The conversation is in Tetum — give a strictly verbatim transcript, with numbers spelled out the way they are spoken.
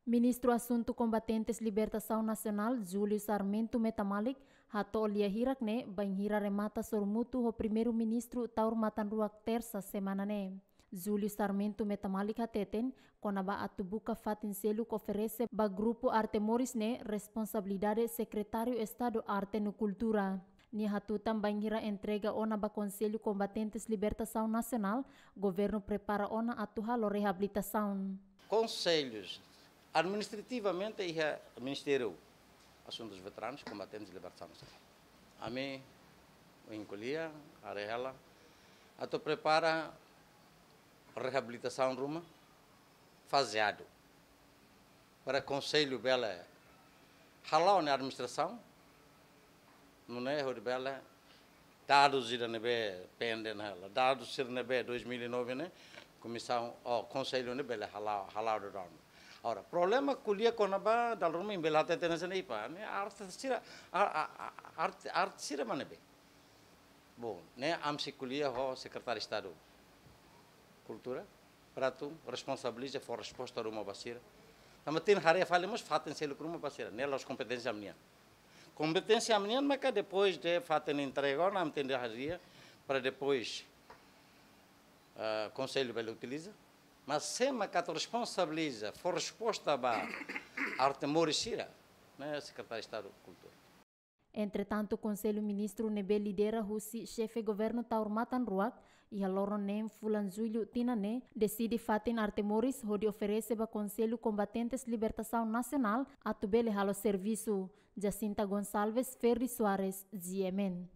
Ministru Asuntu Kombatentes Libertasaun Nasionál, Júlio Sarmento Metamalik, hato'o lia hirak ne'e bainhira remata sorumutu ho Primeiru-Ministru Taur Matan Ruak, Tersa semana ne'e. Júlio Sarmento Metamalik hateten, kona-ba atu buka fatin seluk oferese ba grupu Arte Moris ne'e responsabilidade Sekretáriu Estadu Arte no Kultura. Nia hatutan bainhira entrega ona ba Konsellu Kombatentes Libertasaun Nasionál, governu prepara ona atu halo reabilitasaun. Konsellu administrativamente iha Ministériu Asuntus Veteranus Kombatentes Libertasaun Nasionál. Ami, ohin ko'alia, haree hela, atu prepara reabilitasaun ruma fazeadu. Para konsellu bele hala'o nia administrasaun, nune'e hodi bele dadus ida ne'ebé pende ona hela. Dadus sira ne'ebé dois mil e nove ne'e, komisaun, ou konsellu ne'e bele hala'o, hala'o daudaun. Agora, problema ko'alia kona-ba dala ruma imi bele hatete hanesan ne'e, ipa, ne'e arte sira, a, a, a, arte, arte sira mak ne'ebé. Bom, ne'e ami sei ko'alia ho Sekretáriu Estadu Kultura, para atu responsabiliza, fó resposta ruma ba sira. Tanba tenke haree fali mós fatin seluk ruma ba sira, ne'e la'ós kompeténsia ami-nian. Kompeténsia ami-nian maka depois de fatin entrega ona, ami tenke haree para depois, ah, konsellu bele utiliza. Mas sé maka atu responsabiliza, fó resposta ba Arte Moris sira, ne'e Sekretáriu Estadu Kultura. Entretantu, Konsellu Ministru ne'ebé lidera husi Xefe Governu Taur Matan Ruak, iha loron neen fulan Jullu tinan ne'e, deside fatin Arte Moris hodi oferese ba Konsellu Kombatentes Libertasaun Nasionál atu bele halo servisu. Jacinta Gonçalves, Ferdi Soares, G M N.